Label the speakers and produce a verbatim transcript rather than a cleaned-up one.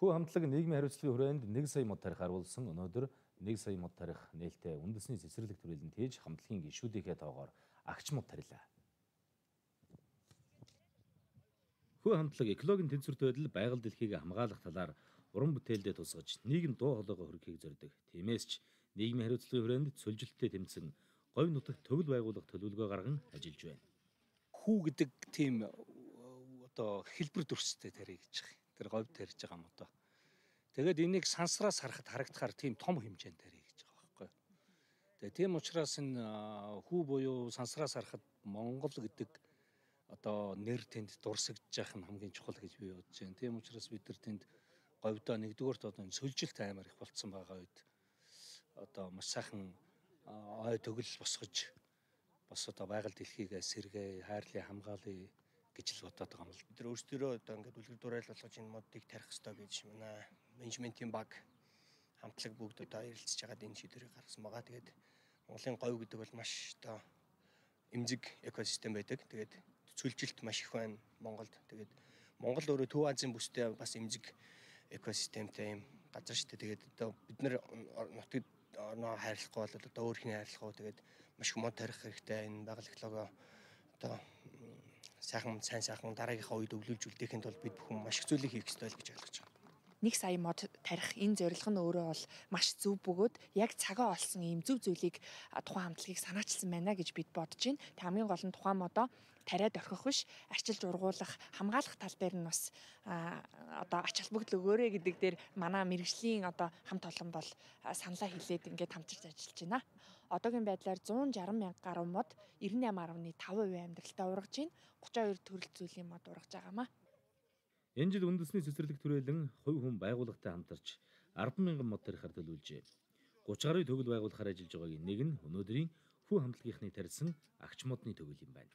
Speaker 1: Хүү хамтлаг нийгмийн хариуцлагын хүрээнд нэг сая мод тарих харуулсан өнөөдөр нэг сая мод тарих нээлттэй үндэсний цэцэрлэг төрөлд тээж хамтлагийн гишүүдийнхээ тоогоор агч мод тарилаа. Хүү хамтлаг экологийн тэнцвэрт байдал байгаль дэлхийг хамгаалах талаар уран бүтээлдээ тусгаж нийгэм дуу хоолойгоо хүргэхийг зорддог. Тиймээс ч нийгмийн хариуцлагын хүрээнд цөлжилттэй тэмцэн говь нутагт төгөл байгуулах төлөвлөгөө гарган ажиллаж байна.
Speaker 2: Хүү гэдэг тийм одоо хэлбэр дүрстэй тарих гэж байгаа. Тэр говь тарьж байгаа юм одоо. Тэгээд энийг сансраас харахад харагдахаар тийм том хэмжээнд тарих гэж байгаа байхгүй. Тэгээд тийм учраас энэ хүү буюу сансраас харахад Монгол гэдэг одоо нэр тэнд дурсагдж явах нь хамгийн чухал гэж би бодож байна. Тийм учраас бид нар тэнд говьдоо нэгдүгээрт одоо сөлжилт аймаар их болцсон байгаа үед одоо маш сайхан ой төгөл босгож бас одоо байгаль дэлхийг сэргээ, хайрлын хамгаалъя гэж л бодоод байгаа юм л.
Speaker 3: Бид нар өөрсдөө одоо ингээд үлгэр дуурайл болгож энэ модыг тарих хэрэгтэй гэж манай менежментийн баг хамтлаг бүгд одоо ярилцж байгаад энэ шийдвэрийг гаргасан байгаа. Тэгээд Монголын говь гэдэг бол маш одоо эмзэг экосистем байдаг. Тэгээд цөлжилт маш их байна Монголд. Тэгээд Монгол өөрөө Төв Азийн бүстэй бас эмзэг экосистемтэй юм газар шүү дээ. Тэгээд одоо бид нар нутагт орноо хайрлахгүй бол одоо өөр хин хайрлах уу. Тэгээд маш их мод тарих хэрэгтэй. Энэ байгаль экологи одоо сайхан сайн сайхан дараагийнхаа үед өвлүүлж үлдээхэд бол бид бүхэн маш их зүйлийг хийх ёстой л гэж ойлгож байна.
Speaker 4: Нэг сая мод тарих энэ зорилго нь өөрөө бол маш зөв бөгөөд яг цагаа олсон ийм зөв зүйлийг тухайн хамтлагийг санаачилсан байна гэж бид бодож байна. Тэг хамгийн гол нь тухайн модоо тариад орхих биш, арчилж ургуулах, хамгаалах тал дээр нь бас одоо ач холбогдол өгөөрэй гэдэг дээр манай мэрэгжлийн одоо хамт олон бол саналаа хэлээд ингээд хамтарч ажиллаж байна. Одоогийн байдлаар зуун жарган мянга гаруй мод девятнадцать дасмал five хувийн амьдралтаа ургаж байна. тридцать two төрөл зүйлийн мод ургаж байгаамаа.
Speaker 1: Энэ жил үндэсний цэцэрлэг түрээлэн хувь хүн байгууллагатай хамтарч арван мянган мод тарихаар төлөвлөжээ. thirty гаруй төгөл байгуулахаар ажиллаж байгаагийн нэг нь өнөөдрийн хүү хамтлагийнхны тарьсан агч модны төгөл юм байна.